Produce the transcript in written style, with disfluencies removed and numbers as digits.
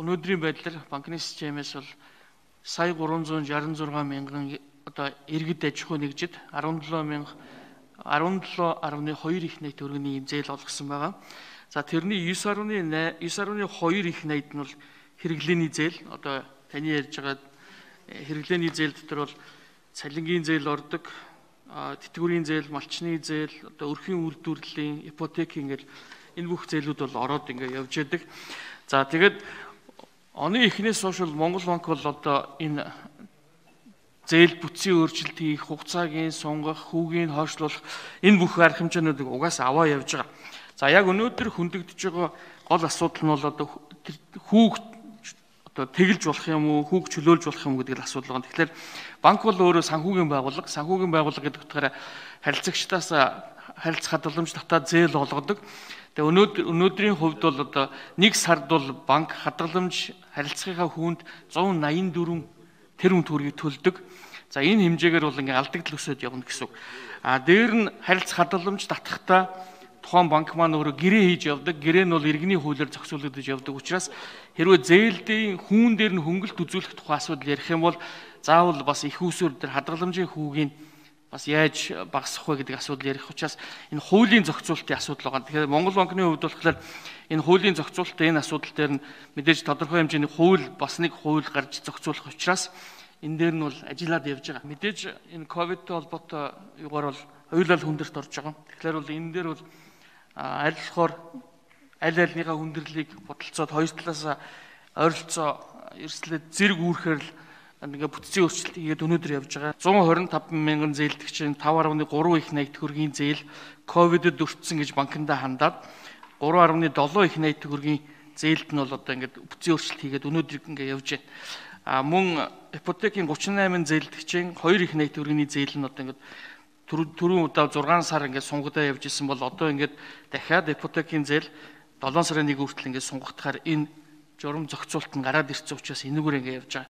өнөөдрийн байдлаар банкны системээс бол сая 366 мянган одоо иргэд аж ахуй нэгжид 17.2 их найт төгрөгийн зээл олгосон байгаа. За тэрний 9.2 их найт нь бол хэрэглээний зээл. Одоо таны ярьж байгаа хэрэглээний зээл дотор бол цалингийн зээл ордог, тэтгэврийн зээл, малчны зээл, одоо өрхийн үйлдвэрлэлийн, ипотек ингээл энэ бүх зээлүүд бол ороод ингээ явж яадаг. За тэгээд оны эхнээс хойш Монгол банк бол одоо энэ зээл бүтцийн өөрчлөлт хийх, хугацаагийн сунгах, хүүгийн хойшлуулах энэ бүх арга хэмжээнүүдийг угаасаа аваа явж байгаа. За яг өнөөдөр хөндөгдөж байгаа гол асуудал нь бол одоо хүүг одоо тэгэлж болох юм уу, хүүг чөлөөлж болох юм гэдэг асуудал байна. Тэгэхээр банк бол өөрөө санхүүгийн байгууллага гэдэг утгаараа харилцагчдаас харилцах хадгаламж татаад зээл олгодог. Тэгээ өнөөдрийн хувьд бол одоо нэг сард бол банк хадгаламж харилцагынхаа хүнд 184 тэрбум төгрөгийг төлдөг. За энэ хэмжээгээр бол ингээ алдагдал өсөд явна гэсэн үг. Дээр нь харилцах хадгаламж татахтаа тухайн банк маань өөрөө гэрээ хийж явдаг. Гэрээ нь бол иргэний хуулиар зохицуулагдаж явдаг учраас хэрвээ зээлдийн хүүн дээр нь хөнгөлт үзүүлэх тухай асуудал ярих юм бол заавал бас их усүр дээр хадгаламжийн хүүгийн бас яаж багасгах вэ гэдэг асуудал ярих учраас энэ хуулийн зохицуулалтын асуудал байгаа. Тэгэхээр Монгол банкны хувьд болохоор энэ хуулийн зохицуулалтын энэ асуудал дээр нь мэдээж тодорхой хэмжээний хууль бас нэг хууль гарч зохицуулах учраас энэ дээр нь бол ажиллаад явж байгаа. Мэдээж энэ ковидтэй холбоотой юугаар бол хоёулаа хүндэрт орж байгаа. Тэгэхээр бол энэ дээр бол аль болохоор аль альныхаа хүндрэлийг бодолцоод хоёр талаас ойролцоо эрсдлээд зэрэг үүрхээр л ингээ бүтцийн өөрчлөлт хийгээд өнөөдөр явж байгаа. 125 мянган зээлдэгчийн 5.3 их найт төгрөгийн зээл ковидд өртсөн гэж банкндаа хандаад 3.7 их найт төгрөгийн зээлд нь бол одоо ингээ бүтцийн өөрчлөлт хийгээд өнөөдөр ингээ явж байна. Мөн ипотекийн 38 зээлдэгчийн 2 их найт төгрөгийн зээл нь одоо ингээ түрүүн удаа 6 сар ингээ сунгадаа явж исэн бол одоо ингээ дахиад ипотекийн зээл 7 сарын 1 хүртэл ингээ сунгагдахаар энэ журам зохицуулт нь гараад ирсэн учраас энэгээр ингээ явж байгаа.